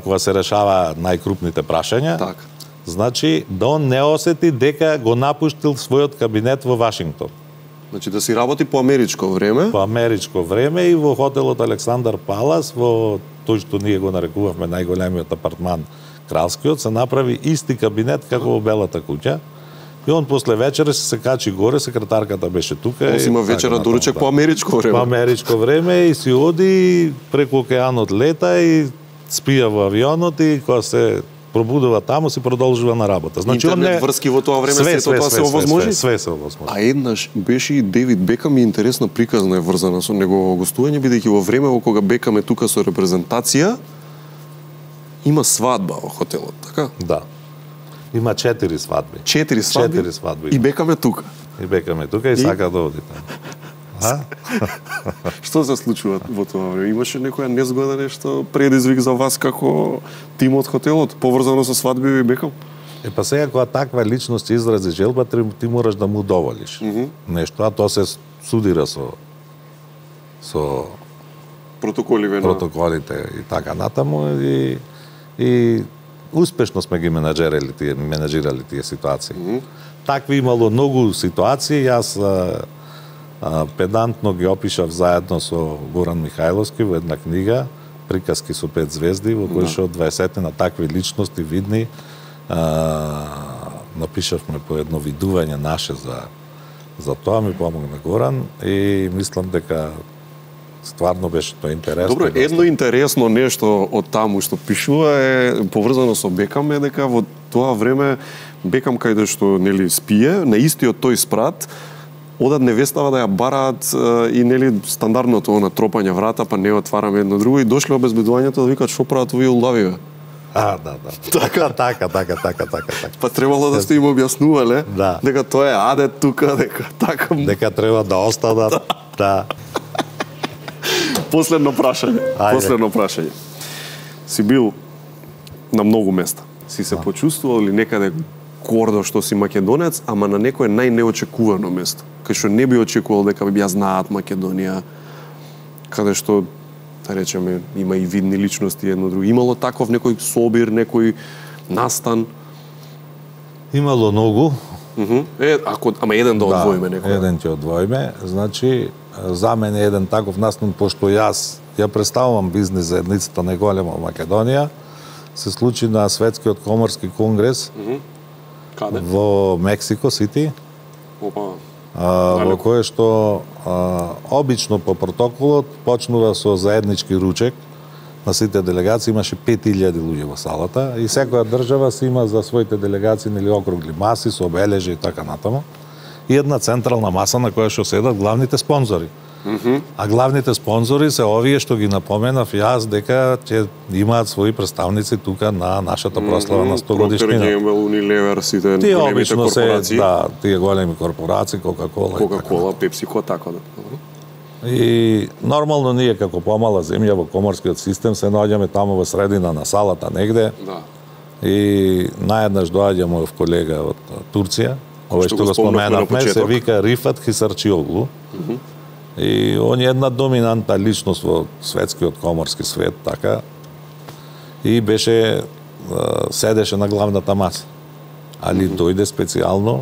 кога се решава најкрупните прашања. Так. Значи, да он не осети дека го напуштил својот кабинет во Вашингтон. Значи да си работи по америчко време? По америчко време и во хотелот Александар Палас, во тој што ние го нарекувавме најголемиот апартман кралскиот, се направи исти кабинет како во Белата куќа И он после вечера се качи горе, секретарката беше тука. Он си има вечера доручек по америчко време. По америчко време и си оди преку океанот лета и спија во авионот и кога се пробудува таму си продолжува на работа. Значи интернет не... врски во тоа време све, се тоа се овозможи? Све, све се овозможи. А еднаш беше и Девид Бекам и интересна приказна е врзана со негово гостување, бидејќи во време во кога Бекам е тука со репрезентација, има свадба во хотелот, така? Да. Има четири свадби. Четири свадби? Четири свадби. И Бекам е тука. И Бекам е тука и, и... сака да оди таму. А? Што се случува во тоа време? Имаше некоја незгода нешто предизвик за вас како тим од хотелот, поврзано со свадби и Бекам? Е, па сега кога таква личност изрази желба, ти мораш да му доволиш. Mm -hmm. Нешто, а тоа се судира со со протоколиве на протоколите и така натаму и и успешно сме ги менаџерали тие менаџирали тие ситуации. Mm -hmm. Такви имало многу ситуации, јас а, а, педантно ги опишав заедно со Горан Михајловски во една книга Приказки со пет звезди, во кој што дваесет на такви личности видни а, напишавме по едно видување наше за за тоа, ми помогна Горан и мислам дека стварно беше тоа интересно. Добро, едно интересно нешто од таму што пишува е поврзано со Бекам е дека во тоа време Бекам каде што нели спие, на истиот тој спрат одат невестава да ја бараат и нели стандардното на тропање врата, па не отвараме едно друго и дошле обезбедувањето да викаат што прават овие улавиве. А, да, да. Така, така, така, така, така, така. Па требало да сте им објаснувале да. дека тоа е адет тука, дека така дека треба да останат. Да. Последно прашање. Ајде. Последно прашање. Си бил на многу места. Си се да. почувствувал ли некаде гордо што си македонец, ама на некое најнеочекувано место, кај што не би очекувал дека би ја знаат Македонија, каде што, да речеме, има и видни личности едно друго. Имало таков некој собир, некој настан? Имало многу. Uh -huh. Е, ако, ама еден да одвоиме да, некој. Еден ќе одвоиме. Значи, за мене еден таков настан, пошто јас ја представувам бизнис за едницата најголема во Македонија, се случи на Светскиот коморски конгрес. Uh -huh. Каде? Во Мексико Сити. Опа. А, во кое што а, обично по протоколот почнува со заеднички ручек на сите делегации, имаше пет илјади луѓе во салата и секоја држава си има за своите делегации нели округли маси со обележи и така натаму. И една централна маса на која што седат главните спонзори. Mm -hmm. А главните спонзори се овие што ги напоменав јас дека ќе имаат своји представници тука на нашата прослава mm -hmm. на сто годишнина. Procter and Gamble, Unilever, сите тие обично се, да, тие големи корпорации, Coca-Cola, Coca-Cola, PepsiCo, така да. И нормално ние како помала земја во коморскиот систем се наоѓаме таму во средина на салата негде. Да. И наеднаш доаѓа мојов колега од Турција, овој што го споменавме, се вика Рифат Хисарчиоглу. Mm -hmm. И он е една доминантна личност во светскиот коморски свет, така. И беше, седеше на главната маса. Али mm -hmm. дојде специјално,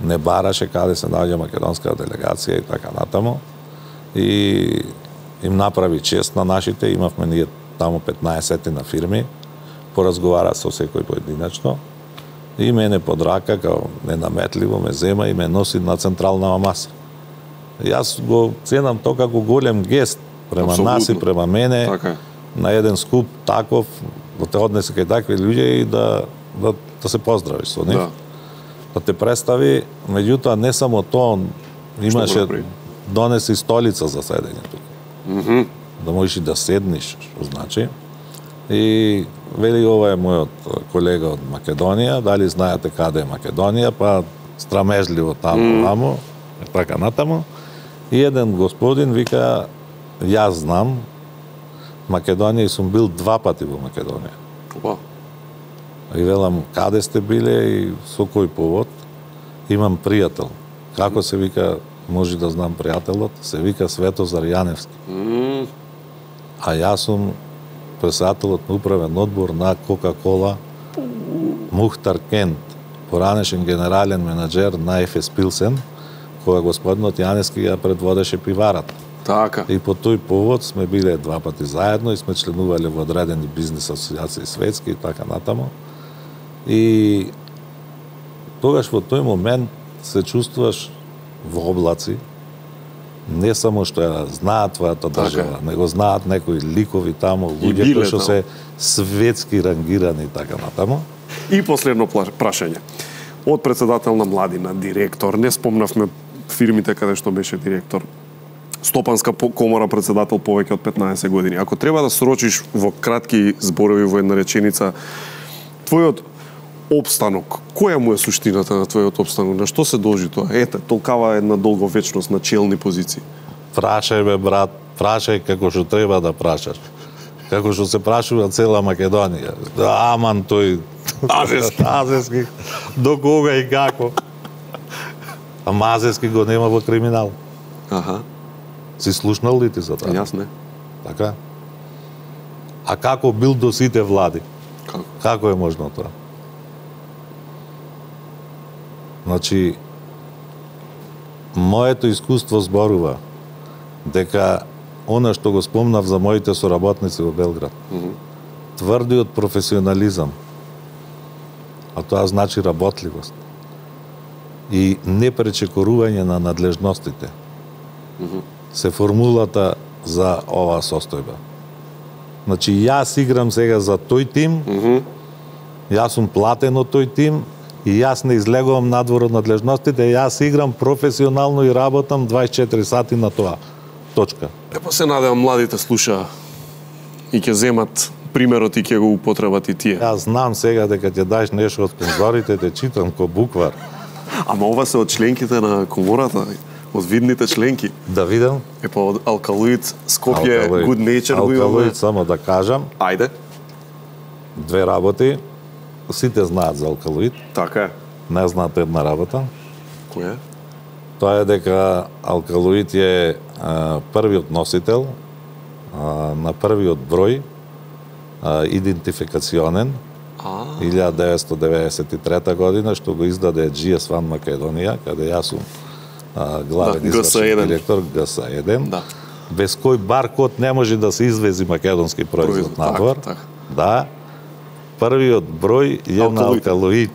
не бараше каде се наоѓа македонска делегација и така натаму. И им направи чест на нашите, имавме ние таму петнаесет на фирми, поразговара со секој поединечно. И мене под рака, као ненаметливо ме зема и ме носи на централна маса. Јас го ценам тоа како голем гест према Абсолютно. Нас и према мене, така. На еден скуп таков, да те однесе кај такви луѓе и да, да, да се поздравиш со нив. Да. Да те представи, меѓутоа не само тоа, имаше донеси столица за седење тука. Mm -hmm. Да можеш и да седниш, што значи. И вели ова е мојот колега од Македонија, дали знаете каде е Македонија, па страмежливо таму, mm. таму, така натаму. И еден господин вика, јас знам Македонија и сум бил два пати во Македонија. Опа. И велам, каде сте биле и со кој повод? Имам пријател. Како се вика, може да знам пријателот? Се вика Светозар Јаневски. Mm. А јас сум председателот на управен одбор на Coca-Cola, Мухтар Кент, поранешен генерален менаџер на Еф Ес Пилсен, која господинот Јаневски ја предводеше пиварата. Така. И по тој повод сме биле два пати заедно и сме членувале во одредени бизнес асоциации светски и така натаму. И тогаш во тој момент се чувствуваш во облаци, не само што ја знаат твојата држава, него знаат некои ликови таму, луѓе кои што се светски рангирани и така натаму. И последно прашање. Од председател на младина, директор, не спомнавме фирмите каде што беше директор, Стопанска комора председател повеќе од петнаесет години. Ако треба да срочиш во кратки зборови во една реченица, твојот опстанок, која му е суштината на твојот опстанок? На што се должи тоа? Ете, толкава една долговечност на челни позиции. Прашај бе, брат, прашај како што треба да прашаш. Како што се прашува цела Македонија. Аман тој Азески. Азески. До кога и како? А Мазески го нема во криминал. Аха. Си слушнал ли ти за тоа? Јас не. Така? А како бил до сите влади? Како? Како е можно тоа? Значи, моето искуство зборува дека она што го спомнав за моите соработници во Белград, mm -hmm. тврдиот професионализам, а тоа значи работливост и непречекорување на надлежностите, mm -hmm. се формулата за оваа состојба. Значи, јас играм сега за тој тим, mm -hmm. јас сум платен од тој тим, и јас не излегувам надвор од надлежностите, јас играм професионално и работам дваесет и четири сати на тоа. Точка. Епа се надевам младите слуша и ќе земат примерот и ќе го употребат и тие. Јас знам сега дека ќе даеш нешто од спонзорите, те читам ко буквар. Ама ова се од членките на комората, од видните членки. Да видам. Епа од Алкалоид, Скопје, Good Nature го имаме. Алкалоид, само да кажам. Ајде. Две работи. Сите знаат за Алкалоид. Така е. Не знаат една работа. Која? Тоа е дека Алкалоид е а, првиот носител а, на првиот број а, идентификационен илјада деветстотини деветдесет и трета година, што го издаде Джи Ес Ван Македонија, каде јас сум а, главен да, извршен директор Г С еден, да. без кој баркод не може да се извези македонски производ надвор. Так, так. Да. Првиот број е на Алкалоид,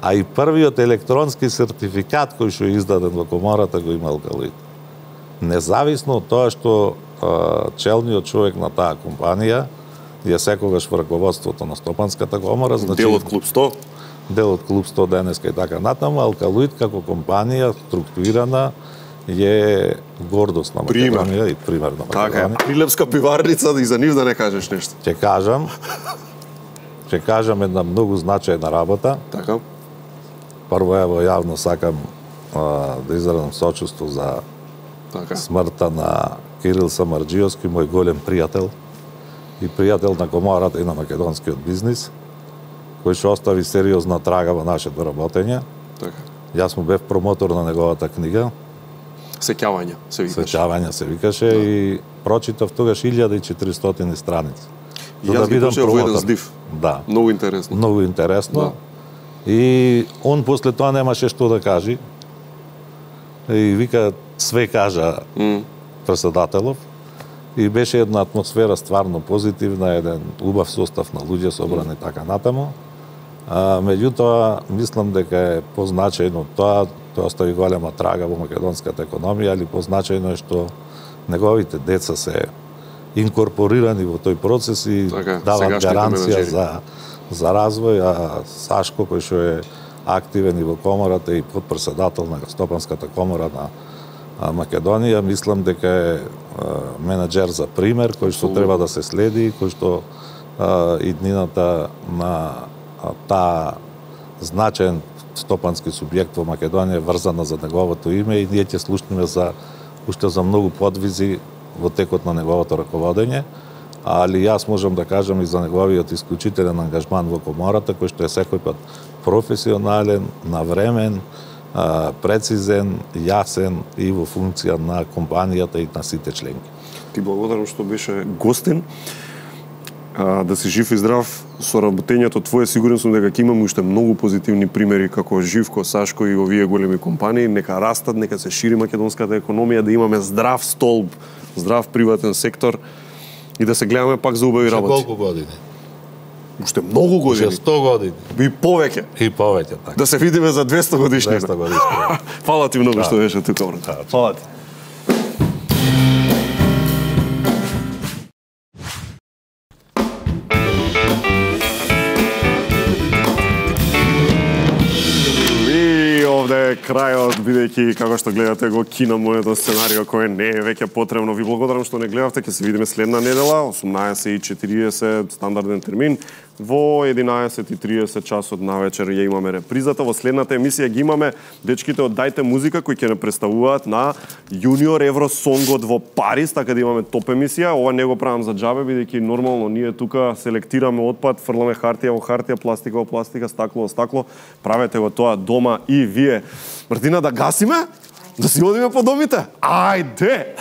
а и првиот електронски сертификат кој што е издаден во комората го има Алкалоид. Независно од тоа што а, челниот човек на таа компанија е секогаш во раководството на Стопанската комора, значи дел од клуб сто, дел од клуб сто денеска и така натаму, Алкалоид како компанија структурирана е гордост на Македонија и пример на Македонија. Така е. Прилепска пиварница, да и за нив да не кажеш нешто. Ќе кажам, ќе кажам една многу значајна работа. Така. Прво ево јавно сакам а, да изразам сочувство за така. смртта на Кирил Самарџиевски, мој голем пријател и пријател на комората и на македонскиот бизнис, кој што остави сериозна трага во нашето работење. Така. Јас му бев промотор на неговата книга. Сеќавање се викаше. Сеќавање се викаше да. И прочитав тогаш илјада и четиристотини страници. И јас ги почнав во еден здив. Да. Многу интересно. Многу интересно. Да. И он после тоа немаше што да каже. И вика, све кажа mm. председателов. И беше една атмосфера стварно позитивна, еден убав состав на луѓе собрани mm. така натаму. А, меѓутоа, мислам дека е позначајно тоа, тоа остави голема трага во македонската економија, али позначајно е што неговите деца се инкорпорирани во тој процес и така, дават гаранција за, за развој, а Сашко, кој што е активен и во комората и подпредседател на Стопанската комора на Македонија, мислам дека е менаџер за пример, кој што треба да се следи, кој што а, иднината на таа значаен стопански субјект во Македонија врзана за неговото име и ние ќе слушнеме за уште за многу подвизи во текот на неговото раководење, али јас можам да кажам и за неговиот исклучителен ангажман во комората, кој што е секој пат професионален, навремен, прецизен, јасен и во функција на компанијата и на сите членки. Ти благодарам што беше гостин. Да си жив и здрав со работењето твое, сигурен сум дека ќе имаме уште многу позитивни примери како Живко, Сашко и овие големи компании, нека растат, нека се шири македонската економија, да имаме здрав столб, здрав приватен сектор и да се гледаме пак за убави работи. Колку години? Уште многу години. Уште сто години. И повеќе. И повеќе, така. Да се видиме за двесто годишнина. двесто годишнина. Фала ти многу што беше тука, брат. Фала ти. Крајот, бидејќи како што гледате го кина моето сценарио кој не е веќе потребно. Ви благодарам што не гледавте, ќе се видиме следна недела, осумнаесет и четириесет стандарден термин. Во единаесет и триесет часот на вечер ја имаме репризата. Во следната емисија ги имаме дечките од Дајте музика кои ќе не представуваат на Јуниор Евросонгот во Париз, така да имаме топ емисија. Ова не го правам за џабе, бидејќи нормално ние тука селектираме отпад, фрламе хартија во хартија, пластика во пластика, стакло во стакло. Правете го тоа дома и вие. Мартина, да гасиме? Да си одиме по домите? Ајде!